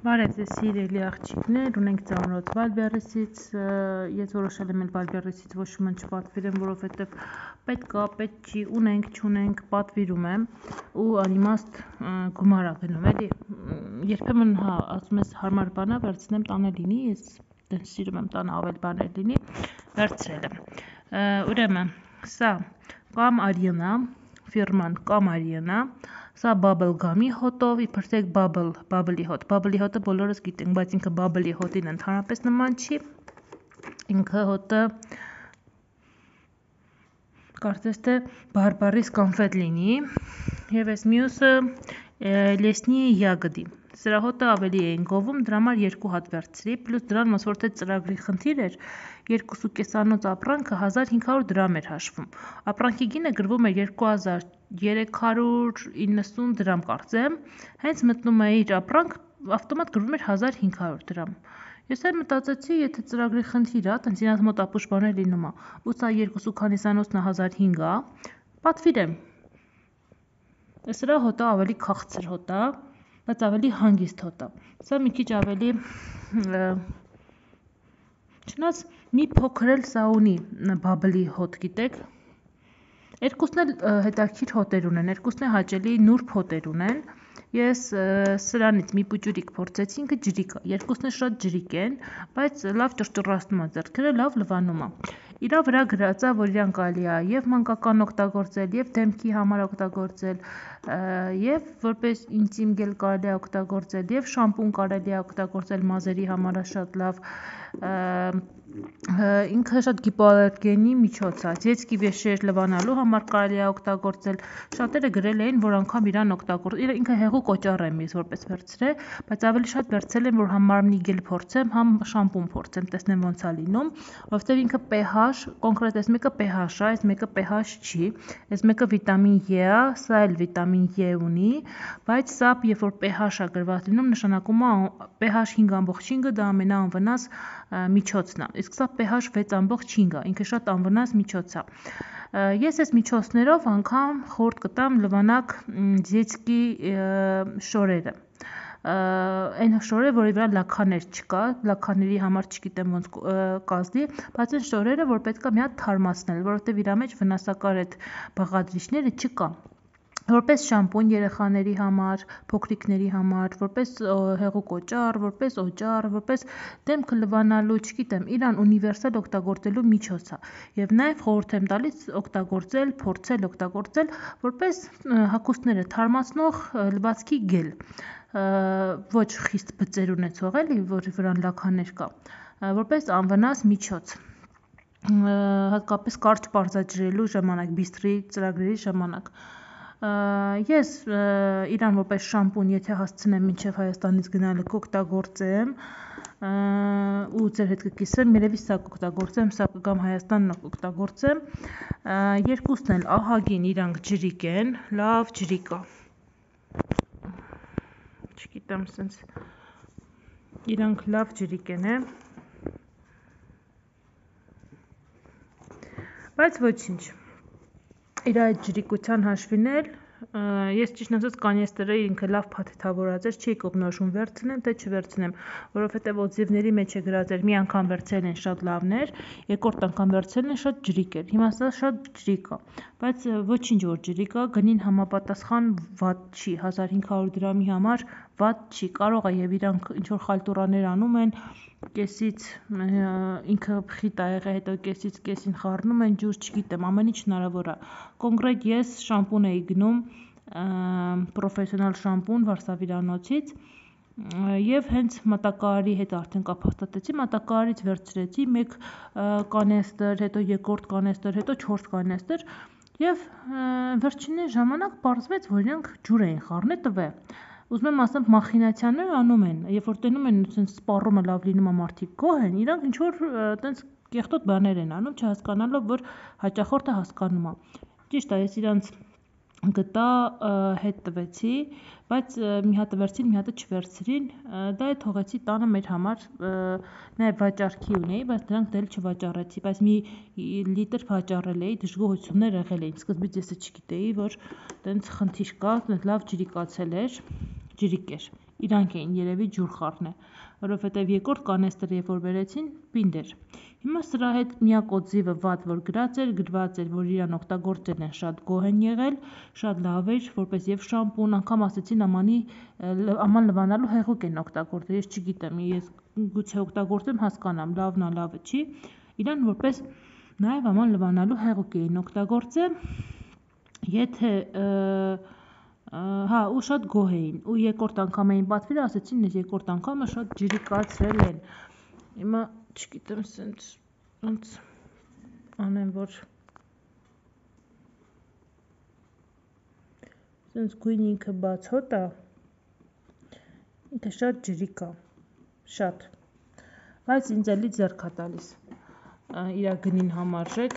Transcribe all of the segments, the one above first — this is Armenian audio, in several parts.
Բարև ձեզ սիրելի աղջիկներ, ունենք ծանոթ Վալբերեսից, ես որոշել եմ Վալբերեսից ոչ ոք չպատվիրեմ, որովհետև պետք չի, ունենք, չունենք, պատվիրում եմ ու անիմաստ գումար ա գնում, էլի, երբեմն ասում ես հարմար բանա վերցնեմ տանը լինի, ես սիրում եմ տանը ավել բաներ լինի, վերցրել եմ, ուրեմն, սա կամ արիենա, ֆիրման կամ արիենա, սա բաբլ գամի հոտով, իբրտեք բաբլի հոտը բոլորս գիտենք, բայց ինքը բաբլի հոտին ընդհանրապես նման չի, ինքը հոտը կարծես թե բարբարիս կոնֆետ լինի, և ես մյուսը լեսնի յագդի, սրա հոտը ավելի էին գովում, դրա համար 2 հատ վերցրի, պլյուս դրան ոնց որ թե ծրագրի խնդիր էր, 2,5 ապրանքը 1500 դրամ էր հաշվում, ապրանքի գինը գրվում էր 2390 դրամ կարծեմ, հենց մտնում է իր ապրանք, ավտոմատ գրվում էր 1500 դրամ, ես էլ մտածեցի, եթե ծրագրի խնդիր ա, տենց իրաց մոտ ապուշ բաներ լինում ա, ու սա 2,49-ն 1500 ա, պատվիրեմ, սրա հոտը ավելի քաղցր հոտ ա, բայց ավելի հանգիստ հոտ ա, սա մի քիչ ավելի, չնայած մի փոքր էլ սա ունի բաբլի հոտ գիտեք, երկուսն էլ հետաքրքիր հոտեր ունեն, երկուսն էլ հաճելի նուրբ հոտեր ունեն, ես սրանից մի պուճուրիկ փորձեցի, ինքը ջրիկ ա, երկուսն էլ շատ ջրիկ են, բայց լավ ճռճռացնում ա ձեռքերը, լավ լվանում ա, իրա վրա գրած ա, որ իրան կարելի ա և մանկական օգտագործել, և դեմքի համար օգտագործել, և որպես ինտիմ գել կարելի ա օգտագործել, և շամպուն կարելի ա օգտագործել մազերի համար ա շատ լավ, ինքը շատ հիպոալերգենի միջոց ա, ձեծքի վեշեր լվանալու համար կարելի ա օգտագործել, շատերը գրել էին, որ անգամ իրան օգտագործել, ինքը հեղուկ օճառ եմ ես որպես վերցրել, բայց ավելի շատ վերցրել եմ, որ համ մարմնի գել փորձեմ, համ շամպուն փորձեմ, տեսնեմ ոնց ա լինում, որովհետև ինքը pH, կոնկրետ այս մեկը pH ա, այս մեկը pH չի, այս մեկը վիտամին E ա, սա էլ վիտամին E ունի, բայց սա երբ որ pH ա գրված լինում, նշանակում ա pH 5.5 դա ամենաանվնաս միջոցն ա, իսկ սա pH 6.5 ա, ինքը շատ անվնաս միջոց ա, ես այս միջոցներով անգամ խորտ կտամ լվանակ ձեծքի շորերը, այն շորերը, որի վրա լաքաներ չկա, լաքաների համար չգիտեմ ոնց կազդի, բայց այն շորերը, որ պետք է մի հատ թարմացնել, որովհետև իրա մեջ վնասակար այդ բաղադրիչները չկա, որպես շամպուն երեխաների համար, փոքրիկների համար, որպես հեղուկ օճառ, որպես դեմքը լվանալու, չգիտեմ, իրան ունիվերսալ օգտագործելու միջոց ա, և նաև խորհուրդ եմ տալիս օգտագործել, փորձել օգտագործել, որպես հագուստները թարմացնող լվացքի գել, ոչ խիստ բծեր ունեցող էլի, որի վրան լաքաներ կա, որպես անվնաս միջոց, հատկապես կարճ պարզաջրելու ժամանակ, բիստրի ծրագրերի ժամանակ, ես իրան որպես շամպուն, եթե հասցնեմ մինչև Հայաստանից գնալը կօգտագործեմ ու ձեր հետ կկիսվեմ, երևի սա կօգտագործեմ, սա կգամ Հայաստան կօգտագործեմ, երկուսն էլ ահագին իրանք ջրիկ են, լավ ջրիկ ա, չգիտեմ սենց, իրանք լավ ջրիկ են բայց ոչինչ, իր այդ ջրիկության հաշվին էլ, ես ճիշտ ասած կանեստերը ինքը լավ փաթեթավորած էր, չի կողնորոշում վերցնեմ, թե չվերցնեմ, որովհետև օձիվների մեջ է գրած էր, մի անգամ վերցրել են շատ լավներ, երկրորդ անգամ վերցրել են շատ ջրիկ էր, հիմա սա շատ ջրիկ ա, բայց ոչինչ որ ջրիկ ա, գնին համապատասխան վատ չի, 1500 դրամի համար վատ չի, կարող ա և իրանք ինչ-որ խալտուրաներ անում են, կեսից ինքը խիտ ա եղել, հետո կեսից կեսին խառնում են ջուր, չգիտեմ, ամեն ինչ հնարավոր ա, կոնկրետ ես շամպուն էի գնում, պրոֆեսիոնալ շամպուն Վարշավիրանոցից և հենց մատակարարի հետ արդեն կապ հաստատեցի, մատակարարից վերցրեցի մեկ կանեստր, հետո երկրորդ կանեստր, հետո 4 կանեստր և վերջին ժամանակ պարզվեց, որ իրանք ջուր էին խառնել տվել, ուզում եմ ասեմ մախինացիաներ անում են, երբ որ տենում են սպառումը լավ լինում ա մարդիկ գոհ են, իրանք ինչ-որ տենց կեղտոտ բաներ են անում, չհասկանալով, որ հաճախորդը հասկանում ա, ճիշտ ա, ես իրանց գտա, հետ տվեցի, բայց մի հատը վերցրին, մի հատը չվերցրին, դա է թողեցի տանը մեր համար, նաև վաճառքի ունեի, բայց դրանք դել չվաճառեցի, բայց մի լիտր վաճառել էի, դժգոհություններ եղել էին, սկզբից ես չգիտեի, որ տենց խնդիր կա, լավ ջրիկացել էր, ջրիկ էր, Իրանք էին երևի ջուր խառնե, որովհետև երկրորդ կանեստր երբ որ բերեցին, պինդ էր։ Հիմա սրա հետ միակ օձիվը վատ որ գրած էր, գրված էր, որ իրան օգտագործել են, շատ գոհ են եղել, շատ լավ էր, որպես եւ շամպուն, անգամ ասեցին աման լվանալու հեղուկ են օգտագործել, ես չգիտեմ, ես գուցե օգտագործեմ հասկանամ, լավն է, լավը չի, իրան որպես նաեւ աման լվանալու հեղուկ էին օգտագործել, եթե հա ու շատ գոհ էին ու երկրորդ անգամ էին պատվիրել, ասեցին ես երկրորդ անգամը շատ ջրիկացրել են։ Հիմա չգիտեմ սենց անեմ որ սենց գույն ինքը բաց հոտ է, ինքը շատ ջրիկ է, շատ, բայց ինձ էլի ձեռք է տալիս, իրա գնին համարժեք,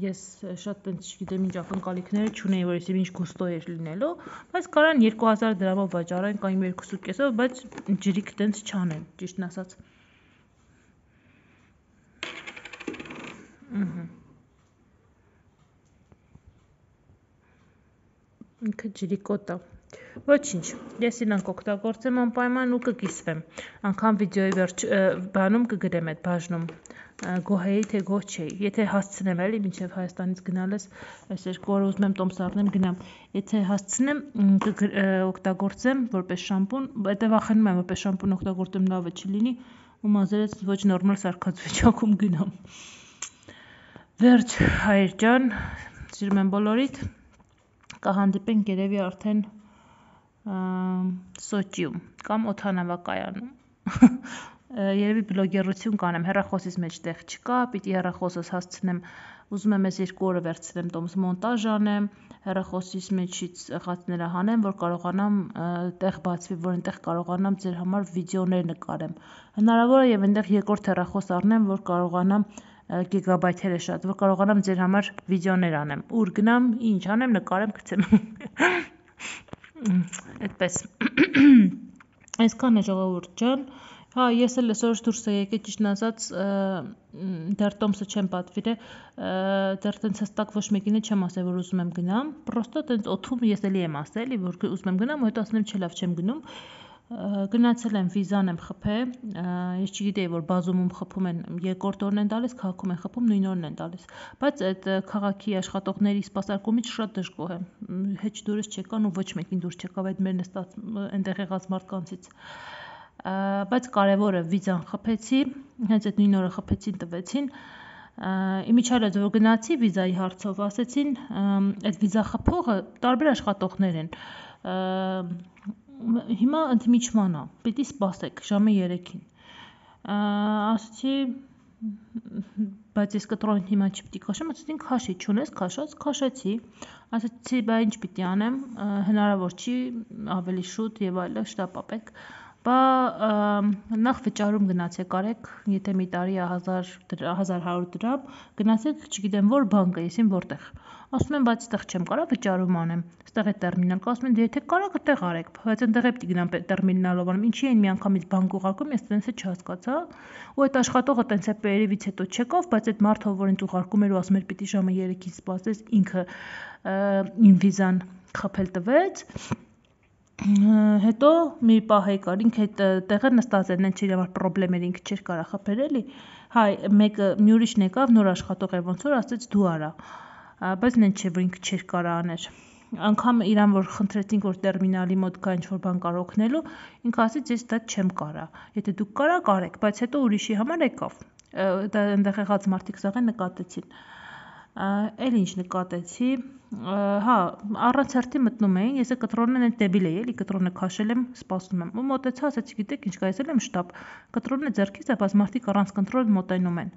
ես շատ տենց չգիտեմ ինչ ակնկալիքները չունեի, որ ես ինչ գուստո էր լինելու, բայց կարան 2000 դրամով վաճառեն կամ 2.5-ով, բայց ջրիկ տենց չանեն, ճիշտն ասած։ Ինքը ջրիկոտ է։ Ոչինչ, ես իրանք օգտագործեմ անպայման ու կկիսվեմ, անգամ վիդեոյի բանում կգրեմ այդ բաժնում, գոհ էի, թե գոհ չէի, եթե հասցնեմ էլի, մինչև Հայաստանից գնալս, այս 2 օր ուզում եմ տոմս առնեմ գնամ, եթե հասցնեմ օգտագործեմ որպես շամպուն, հետո վախենում եմ որպես շամպուն օգտագործեմ լավը չլինի ու մազերս ոչ նորմալ սարքած վիճակում գնամ։ Վերջ հայր ջան, սիրում եմ բոլորիդ, կհանդիպենք երևի արդեն Սոճիում կամ օդանավակայանում, երևի բլոգերություն կանեմ, հեռախոսից մեջ տեղ չկա, պիտի հեռախոսս հասցնեմ, ուզում եմ ես 2 օրը վերցնեմ տոմս մոնտաժ անեմ, հեռախոսից մեջից եղածները հանեմ, որ կարողանամ տեղ բացվի, որ այնտեղ կարողանամ ձեր համար վիդեոներ նկարեմ, հնարավոր է եւ այնտեղ երկրորդ հեռախոս առնեմ, որ կարողանամ գիգաբայթերը շատ, որ կարողանամ ձեր համար վիդեոներ անեմ, ուր գնամ, ինչ անեմ, նկարեմ, գցեմ։ Այդպես։ Այսքան է ժողովուրդ ջան։ Հա, ես էլ այսօր դուրս եկել ճիշտն ասած, դեռ տոմսը չեմ պատվիրել, դեռ տենց հստակ ոչ մեկին չեմ ասել, որ ուզում եմ գնամ, պրոստը տենց օթում ես էլի եմ ասել, որ ուզում եմ գնամ, ու հետո ասում եմ չէ, լավ չեմ գնում։ Գնացել եմ վիզան եմ խփել, ես չգիտեի, որ բազումում խփում են երկրորդ օրն են տալիս, քաղաքում են խփում նույն օրն են տալիս, բայց այդ քաղաքի աշխատողների սպասարկումից շատ դժգոհ եմ, հեչ դուրս չեկան ու ոչ մեկին դուրս չեկավ այդ մեր նստած այնտեղ եղած մարդկանցից, բայց կարևորը վիզան խփեցի, հենց այդ նույն օրը խփեցին, տվեցին, իմիջիալը որ գնացի վիզայի հարցով, ասեցին, այդ վիզա խփողը տարբեր աշխատողներ են, հիմա ընդմիջման է, պիտի սպասեք ժամը 3-ին, ասեցի, բայց ես կտրոնին հիմա չպիտի քաշեմ, ասեցին քաշի, չունես քաշած, քաշեցի, ասեցի բա ինչ պիտի անեմ, հնարավոր չի, ավելի շուտ եւ այլը, շտապ ապեք, բա նախ վճարում գնացեք արեք, եթե մի տարի 1100 դրամ, գնացեք, չգիտեմ որ բանկը, եսին որտեղ, ասում եմ, բայց այդտեղ չեմ կարա վճարում անեմ, այդտեղ է տերմինալ կա, ասում են դե եթե կարաք այդտեղ արեք, բայց այնտեղ է պիտի գնամ տերմինալով անում, ինչի են միանգամից բանկ ուղարկում, ես տենց է չհասկացա, ու այդ աշխատողը տենց է պերևից հետո չեկավ, բայց այդ մարդը որ ինձ ուղարկում էր ու ասում էր պիտի ժամը 3-ին սպասես, ինքը իմ վիզան խփել տվեց, հետո մի պահ եկար, ինքը այդ տեղը նստած էր, նենց իր համար պրոբլեմ էր, ինքը չէր կարա խփել էլի, հայ, մեկը մի ուրիշն եկավ, նոր աշխատող էր ոնց որ ասեց դու արա, բայց նենց չէ, որ ինքը չէր կարա աներ, անգամ իրան որ խնդրեցինք, որ տերմինալի մոտ կա ինչ-որ բան կար օգնելու, ինքը ասեց ես դա չեմ կարա, եթե դուք կարաք արեք, բայց հետո ուրիշի համար եկավ, դա այնտեղ եղած մարդիկ սաղեն նկատեցին, էլ ինչ նկատեցի, հա, առանց հերթի մտնում էին, ես կտրոնն այդ դեբիլ էի, էլի կտրոնը քաշել եմ, սպասում եմ, ու մոտեցա, ասեցի գիտեք ինչ կա, ես էլ եմ շտապ, կտրոնը ձեռքից է, բայց մարդիկ առանց կոնտրոլ մոտենում են,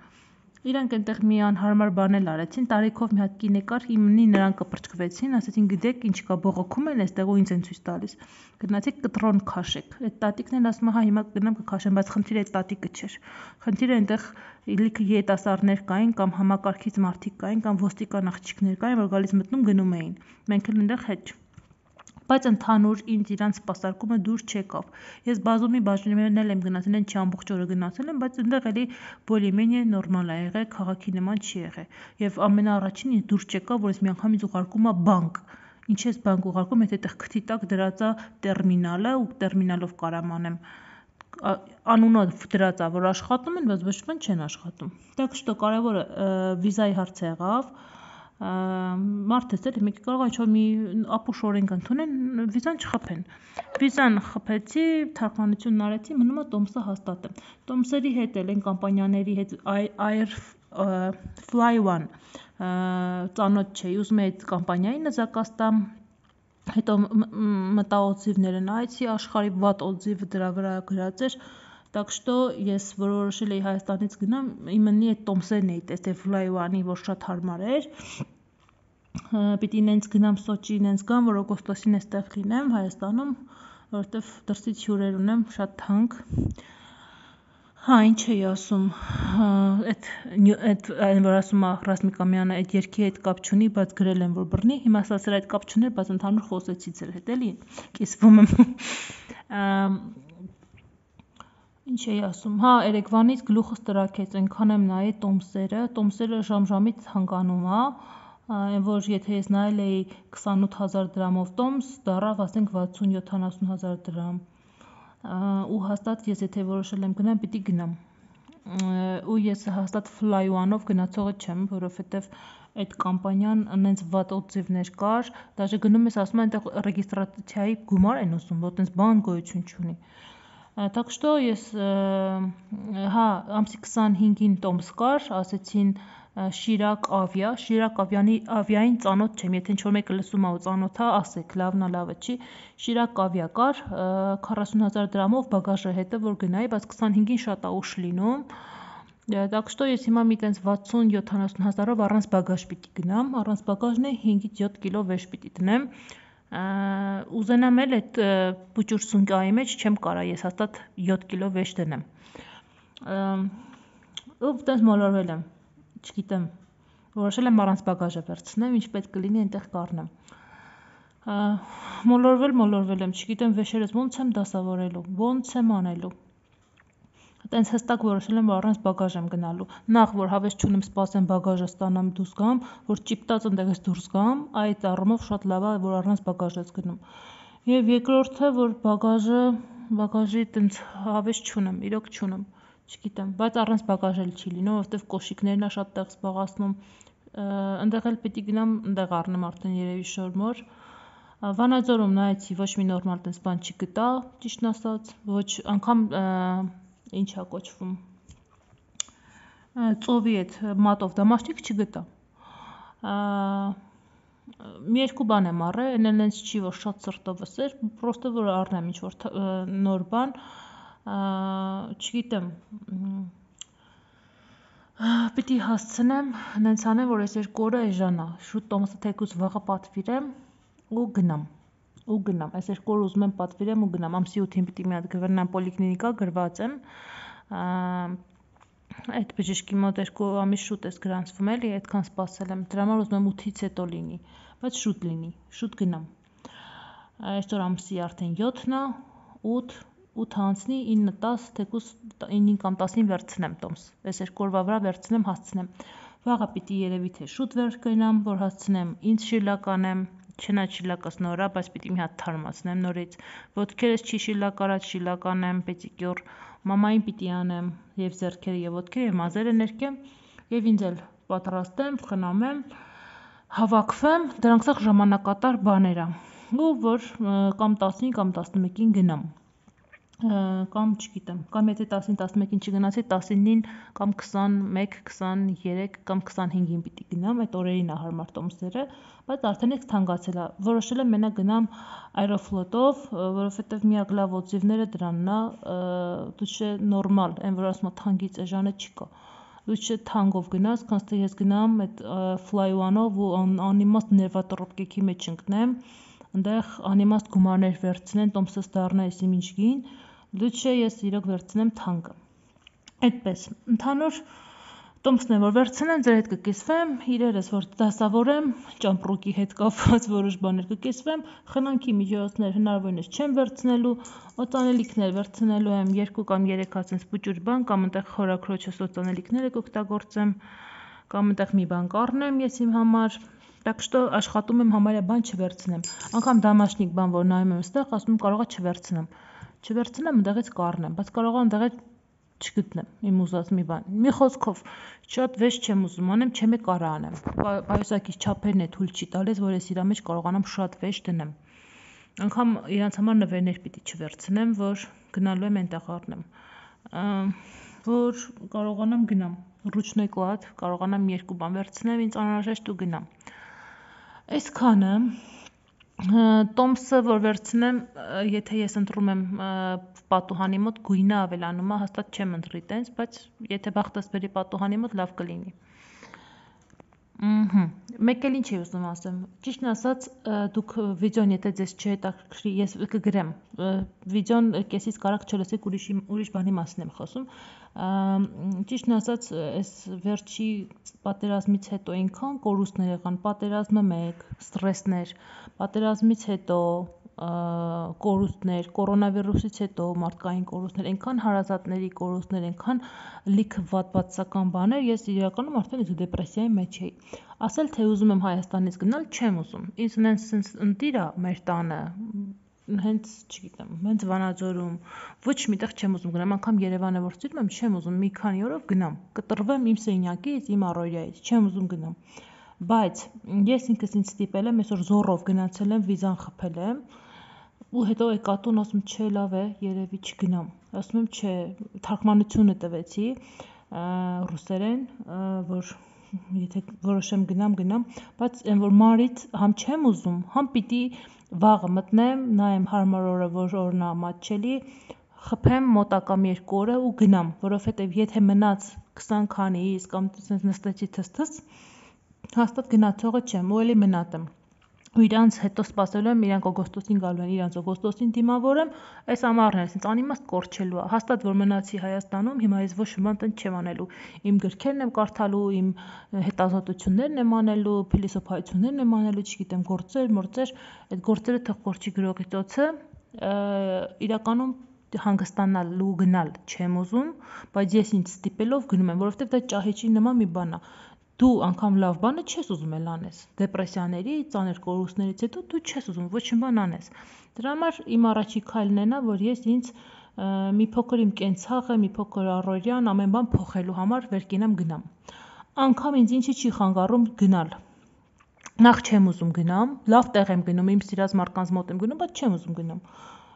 իրանք այնտեղ մի անհարմար բան էլ արեցին, տարիքով մի հատ կին եկար, իմնի նրան կպրճկվեցին, ասեցին գիտեք ինչ կա, բողոքում են այստեղ ու ինձ են ցույց տալիս, գնացեք կտրոն քաշեք, այդ տատիկն էլ ասում է, հա հիմա կգնամ կքաշեմ, բայց խնդիրը այդ տատիկը չէր, խնդիրը այնտեղ իլիքը երիտասարդներ կային կամ համակարգից մարդիկ կային կամ ոստիկան աղջիկներ կային, որ գալիս մտնում գնում էին, մենք էլ այնտեղ հետ բայց ընդհանուր ինձ իրանց սպասարկումը դուր չեկավ, ես բազումի բաժիններն էլ եմ գնացել, են չի ամբողջ օրը գնացել եմ, բայց այնտեղ էլի բոլիմենիա նորմալ է եղել, քաղաքի նման չի եղել, եւ ամենաառաջին ինձ դուր չեկավ, որ ես միանգամից ուղարկում եմ բանկ, ինչ ես բանկ ուղարկում, եթե այդտեղ քթի տակ դրած է տերմինալը ու տերմինալով կարամ անեմ։ Անունով դրած է, որ աշխատում են, բայց ոչ ոք չեն աշխատում։ Так что կարևորը վիզայի հարցը եղավ։ Մարդես էլի մեկ կարող ինչ-որ մի ապուշ օրենք ընդունեն, վիզան չխփեն։ Վիզան խփեցի, թարգմանությունն արեցի, մնում է տոմսը հաստատեմ։ Տոմսերի հետ էլ են կամպանիաների հետ Fly One ծանոթ չէի, ուզում էի այդ կամպանիային նզակած տամ, հետո մտա օձիվները նայեցի, աշխարհի վատ օձիվը դրա վրա գրած էր, так что ես որոշել էի Հայաստանից գնամ, իմնի այդ տոմսերն էի տեսել Fly One-ի, որ շատ հարմար էր, պիտի նենց գնամ Սոչի, նենց գամ, որ օգոստոսին էստեղ լինեմ Հայաստանում, որովհետև դրսից հյուրեր ունեմ, շատ թանկ։ Հա, ինչ էի ասում, այդ որ ասում է Ռասմիկ Ամյանը, այդ երգի հետ կապ չունի, բայց գրել եմ, որ բռնի, հիմա ասացել այդ կապ չուներ, բայց ընդհանուր խոսեցի ձեր հետ, էլի, կիսվում եմ։ Ինչ էի ասում, հա, Երևանից գլուխս տրաքեց, այնքան եմ նայել տոմսերը ժամ-ժամից հանգանում է, որ եթե ես նայել էի 28,000 դրամով տոմս, դառավ ասենք 60-70,000 դրամ։ Ու հաստատ ես եթե որոշել եմ գնամ, պիտի գնամ։ Ու ես հաստատ Fly One-ով գնացողը չեմ, որովհետև այդ կամպանիան այնց վատ օձիվներ կար, դաժե գնում ես ասում են այնտեղ ռեգիստրացիայի գումար են ուզում, որ այնց բան գոյություն չունի։ Так что ես հա ամսի 25-ին տոմս կար, ասեցին Շիրակ ավիային ծանոթ չեմ, եթե ինչ-որ մեկը լսում է ու ծանոթ է, ասեք, լավն է, լավը չի, Շիրակ ավիա կար, 40,000 դրամով բագաժը հետը, որ գնայի, բայց 25-ին շատ է ուշ լինում, так что ես հիմա մի տենց 60-70 հազարով առանց բագաժ պիտի գնամ, առանց բագաժն է 5-ից 7 կիլո վեժ պիտի դնեմ, ուզենամ էլ այդ բուճուր սունկայի մեջ չեմ կարա, ես հաստատ 7 կիլո վեժ դնեմ, ու տենց մոլորվել եմ, չգիտեմ, որոշել եմ առանց բագաժը վերցնեմ, ինչ պետք կլինի այնտեղ կառնեմ, մոլորվել եմ, չգիտեմ վեշերս ոնց եմ դասավորելու, ոնց եմ անելու, տենց հստակ որոշել եմ, որ առանց բագաժ եմ գնալու, նախ որ հավես չունեմ սպասեմ բագաժը ստանամ դուրս գամ, որ ճիպտած ընդեղից դուրս գամ, այդ առումով շատ լավ է, որ առանց բագաժ ես գնում, և երկրորդը, որ բագաժի տենց հավես չունեմ, իրոք չունեմ, չգիտեմ, բայց առանց բագաժ էլ չի լինում, որովհետև կոշիկներն է շատ տեղ զբաղացնում, ընդեղ էլ պիտի գնամ, ընդեղ առնեմ արդեն երևի շորմոր, Վանաձորում նայեցի, ոչ մի նորմալ տենց բան չգտա, ճիշտն ասած, ոչ անգամ ինչ է կոչվում, ծովի այդ մատով դամաշնիկ չգտա, մի երկու բան եմ առել, են այնց չի, որ շատ սրտովս էր, պրոստը որ առնեմ ինչ-որ նոր բան, չգիտեմ, պիտի հասցնեմ, նենց անեմ, որ ես երկու օրը էժանա, շուտ տոմսը թեկուզ վաղը պատվիրեմ ու գնամ, այս երկու օր ուզում եմ պատվիրեմ ու գնամ, ամսի 8-ին պիտի մի հատ գնամ պոլիկլինիկա, գրված եմ, այդ բժշկի մոտ 2 ամիս շուտ ես գրանցվում էլի, այդքան սպասել եմ, դրա համար ուզում եմ 8-ից հետո լինի, բայց շուտ լինի, շուտ գնամ, այսօր ամսի արդեն 7-ն է, 8 անցնի, 9-10, թեկուզ 9 կամ 10-ին վերցնեմ տոմս, այս երկու օրվա վրա վերցնեմ, հասցնեմ, վաղը պիտի երևի թե շուտ վեր գնամ, որ հասցնեմ, ինձ շիլակ անեմ, չնայած շիլակս նոր է, բայց պիտի մի հատ թարմացնեմ նորից, ոտքերս չի շիլակ արած, շիլակ անեմ, պետիկյուր, մամային պիտի անեմ, և ձեռքերը և ոտքերը և մազերը ներկեմ, և ինձ էլ պատրաստեմ, խնամեմ, հավաքվեմ, դրանք սաղ ժամանակատար բաներ է, ու որ կամ 10-ին կամ 11-ին գնամ, կամ չգիտեմ, կամ եթե 10-ին 11-ին չգնացի, 19-ին կամ 21, 23 կամ 25-ին պիտի գնամ, այդ օրերին է հարմար տոմսերը, բայց արդեն ես թանկացել է, որոշել եմ մենակ գնամ Aeroflot-ով, որովհետև միակ լավ օձիվները դրանն է, դու չէ նորմալ, այն որ ասում է թանկից էժանը չկա, դու չէ թանկով գնաս, քանց թե ես գնամ այդ Fly One-ով ու անիմաստ ներվատրոպկեքի մեջ ընկնեմ, ընդեղ անիմաստ գումարներ վերցնեն, տոմսս դառնա եսիմ ինչ գին, դու չէ ես իրոք վերցնեմ թանկը, այդպես, ընդհանուր տոմսն է, որ վերցնեմ, ձեր հետ կկիսվեմ, իրերս, որ դասավորեմ, ճամպրուկի հետ կապված որոշ բաներ կկիսվեմ, խնանքի միջոցներ հնարավորինս չեմ վերցնելու, օծանելիքներ վերցնելու եմ 2 կամ 3 հացենց բուճուր բան, կամ ընտեղ խորաքրոջս օծանելիքները կօգտագործեմ, կամ ընտեղ մի բան կառնեմ ես իմ համար, Так что աշխատում եմ համարյա բան չվերցնեմ։ Անգամ դամաշնիկ բան, որ նայում եմ այստեղ, ասում եմ կարողա չվերցնեմ։ Չվերցնեմ, ընդեղից կառնեմ, բայց կարողա ընդեղից չգտնեմ իմ ուզած մի բան։ Մի խոսքով, շատ վեճ չեմ ուզում անեմ, չեմ կարա անեմ։ Պայուսակից չափերն է թույլ չի տալիս, որ ես իրա մեջ կարողանամ շատ վեճ դնեմ։ Անգամ իրանց համար նվերներ պիտի չվերցնեմ, որ գնալու եմ այնտեղ առնեմ։ Որ կարողանամ գնամ ռուչնոյ կարողանամ 2 բան վերցնեմ, ինձ անհրաժեշտ ու գնամ։ Այսքանը տոմսը որ վերցնեմ, եթե ես ընտրում եմ պատուհանի մոտ գույնը ավելանում է, հաստատ չեմ ընտրի տենց, բայց եթե բախտս բերի պատուհանի մոտ լավ կլինի։ Մեկ էլ ինչ էի ուզում ասեմ, ճիշտն ասած դուք վիդեոն եթե ձեզ չհետաքրքրի, ես կգրեմ, վիդեոն կեսից կարակ չլսեք ուրիշ բանի մասին եմ խոսում, ճիշտն ասած այս վերջի պատերազմից հետո այնքան կորուստներ եղան, պատերազմը մեկ, ստրեսներ, պատերազմից հետո կորուստներ, կորոնավիրուսից հետո մարդկային կորուստներ, այնքան հարազատների կորուստներ, այնքան լիքը վատվացական բաներ, ես իրականում արդեն դեպրեսիայի մեջ էի։ Ասել թե ուզում եմ Հայաստանից գնալ, չեմ ուզում։ Ինձ նենց ընտիր է մեր տանը, հենց չգիտեմ, հենց Վանաձորում, ոչ միտեղ չեմ ուզում գնամ, անգամ Երևանը որ սիրում եմ, չեմ ուզում մի քանի օրով գնամ, կտրվեմ իմ սենյակից, իմ առօրյայից, չեմ ուզում գնամ։ Բայց ես ինքս ինձ ստիպել եմ, այսօր զոռով գնացել եմ, վիզան խփել եմ, ու հետո եկատուն ասում չէ լավ է, երևի չգնամ։ Ասում եմ չէ, թարգմանությունը տվեցի ռուսերեն, որ եթե որոշեմ գնամ, բայց այն որ մարից համ չեմ ուզում, համ պիտի վաղը մտնեմ, նայեմ հարմար օրը, որ օրն է մատչելի, խփեմ մոտակա 2 օրը ու գնամ, որովհետև եթե մնաց 20 քանիս կամ նստեցի թս, հաստատ գնացողը չեմ, ու էլի մնատեմ։ Ու իրանց հետո սպասելու եմ, իրանք օգոստոսին գալու են, իրանց օգոստոսին դիմավորեմ, այս ամառներս ինձ անիմաստ կորչելու է, հաստատ որ մնացի Հայաստանում, հիմա ես ոչ մի բան տենց չեմ անելու, իմ գրքերն եմ կարդալու, իմ հետազոտություններն եմ անելու, փիլիսոփայություններն եմ անելու, չգիտեմ, գործեր, այդ գործերը թող կորչի գրողի տոցը, իրականում հանգստանալ ու գնալ չեմ ուզում, բայց ես ինձ ստիպելով գնում եմ, որովհետև դա ճահիճի նման մի բան է։ Դու անգամ լավ բանը չես ուզում էլ անես, դեպրեսիաների, ծանր կորուստներից հետո դու չես ուզում ոչ մի բան անես։ Դրա համար իմ առաջի քայլն էնա, որ ես ինձ մի փոքր իմ կենցաղը, մի փոքր առօրյան, ամեն բան փոխելու համար վեր կենամ գնամ։ Անգամ ինձ ինչի չի խանգարում գնալ։ Նախ չեմ ուզում գնամ, լավ տեղ եմ գնում, իմ սիրած մարդկանց մոտ եմ գնում, բայց չեմ ուզում գնամ։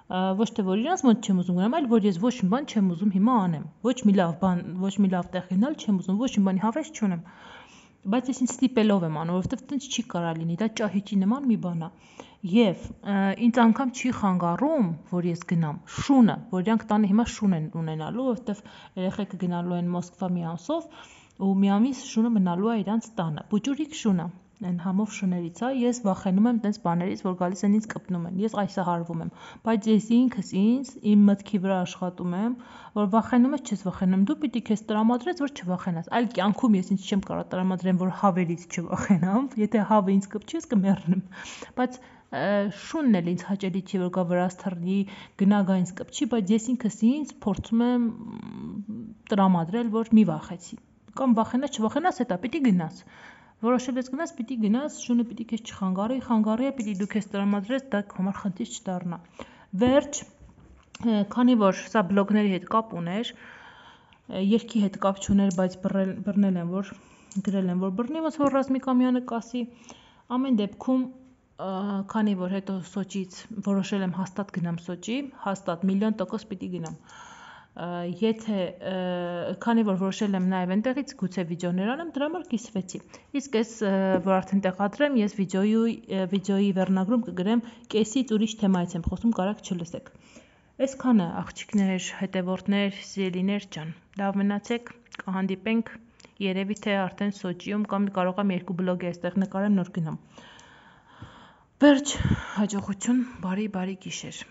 Ոչ թե որ իրանց մոտ չեմ ուզում գնամ, այլ որ ես ոչ մի բան չեմ ուզում հիմա անեմ։ Ոչ մի լավ բան, ոչ մի լավ տեղ գնալ չեմ ուզում, ոչ մի բանի հավես չունեմ։ Բայց ես ինձ ստիպելով եմ անում, որովհետև տենց չի կարա լինի, դա ճահիճի նման մի բան է։ Եվ ինձ անգամ չի խանգարում, որ ես գնամ։ Շունը, որ իրանք տանը հիմա շուն են ունենալու, որովհետև երեխեքը գնալու են Մոսկվա մի ամսով, ու մի ամիս շունը մնալու է իրանց տանը։ Բուջուրիկ շունը, այն համով շներից է, ես վախենում եմ տենց բաներից, որ գալիս են ինձ կպնում են, ես այսահարվում եմ, բայց ես ինքս ինձ իմ մտքի վրա աշխատում եմ, որ վախենում ես, չես վախենում, դու պիտի քեզ տրամադրես, որ չվախենաս, այլ կյանքում ես ինձ չեմ կարող տրամադրեմ, որ հավերից չվախենամ, եթե հավը ինձ կպչի, ես կմեռնեմ, բայց շունն էլ ինձ հաճելի չի, որ գա վրաս թռնի, գնա գա ինձ կպչի, բայց ես ինքս ինձ փորձում եմ տրամադրել, որ մի վախեցի, կամ վախենաս, չվախենաս, հետա պիտի գնաս, որոշել ես գնաս, պիտի գնաս, շունը պիտի քեզ չխանգարի է, պիտի դու քեզ տրամադրես, դա համար խնդիր չդառնա։ Վերջ, քանի որ սա բլոգների հետ կապ ուներ, երգի հետ կապ չուներ, բայց բռնել եմ, որ գրել եմ, որ բռնի, ոնց որ Ռազմիկ Ամյանը կասի, ամեն դեպքում, քանի որ հետո Սոչիից որոշել եմ հաստատ գնամ Սոչի, հաստատ 1,000,000% պիտի գնամ։ Եթե քանի որ որոշել եմ նաև այնտեղից գուցե վիդեոներ անեմ, դրա համար կիսվեցի։ Իսկ ես որ արդեն տեղադրեմ, ես վիդեոյի վերնագրում կգրեմ կեսից ուրիշ թեմայից եմ խոսում, կարաք չլսեք։ Այսքանը աղջիկներ, հետևորդներ, սիրելիներ ջան, լավ մնացեք, կհանդիպենք, երևի թե արդեն Սոչիում կամ կարող եմ 2 բլոգ այստեղ նկարեմ, նոր գնամ։ Վերջ, հաջողություն, բարի գիշեր։